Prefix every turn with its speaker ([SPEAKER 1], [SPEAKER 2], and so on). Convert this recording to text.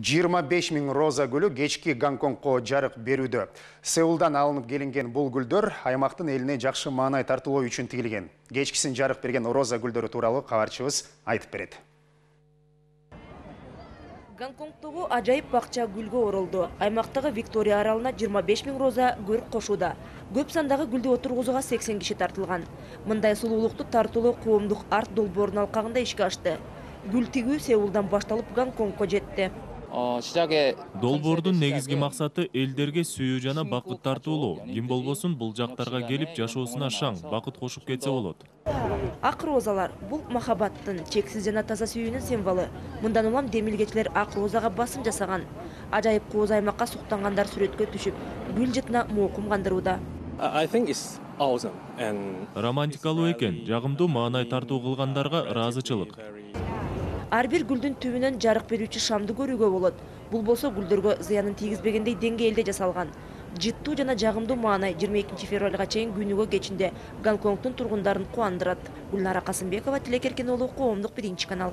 [SPEAKER 1] 25 000 роза гүлү кечки Гонконгко жарык берүүдө. Сеулдан алынып келинген бул гүлдөр аймактын элине жакшы маанай тартуулоо үчүн тигилген. Кечкисин жарык берген роза гүлдөрү тууралуу кабарчыбыз айтып берет.
[SPEAKER 2] Гонконгдогу ажайып бакча гүлгө оролду. Аймактагы Виктория аралына 25 000 роза көрүк кошууда. Көп сандагы гүлдү отургузууга 80 киши тартылган. Мындай сулуулукту тартуулоо коомдук арт долбоорунун алкагында ишке ашты. Гүл тигүү Сеулдан башталып Гонконгко жетти.
[SPEAKER 3] Долбоордун негизги максаты элдерге сүйүү жана бакыт тартуулоо. Ким болбосун бул жактарга келип жашоосуна шаң, бакыт кошуп кетсе болот.
[SPEAKER 2] Ак розалар бул махабаттын, чексиз жана таза сүйүүнүн символу. Мындан улам демилгечилер ак розага басым жасаган. Ажайып кооз аймакка суктангандар сүрөткө түшүп, гүл жытына моокум кандырууда.
[SPEAKER 3] Романтикалуу экен, жагымдуу маанай тартуу кылгандарга ыраазычылык.
[SPEAKER 2] Ар бир гүлдүн түбүнөн жарык берүүчү шамды көрүүгө болот. Бул болсо гүлдөргө зыянын тийгизбегендей деңгээлде жасалган. Жыттуу жана жагымдуу маанай 22 февралга чейин күнүгө кечинде Гонконгдун тургундарын кубандырат. Гүлнара Касымбекова, Тилекеркен уулу, Коомдук 1 канал.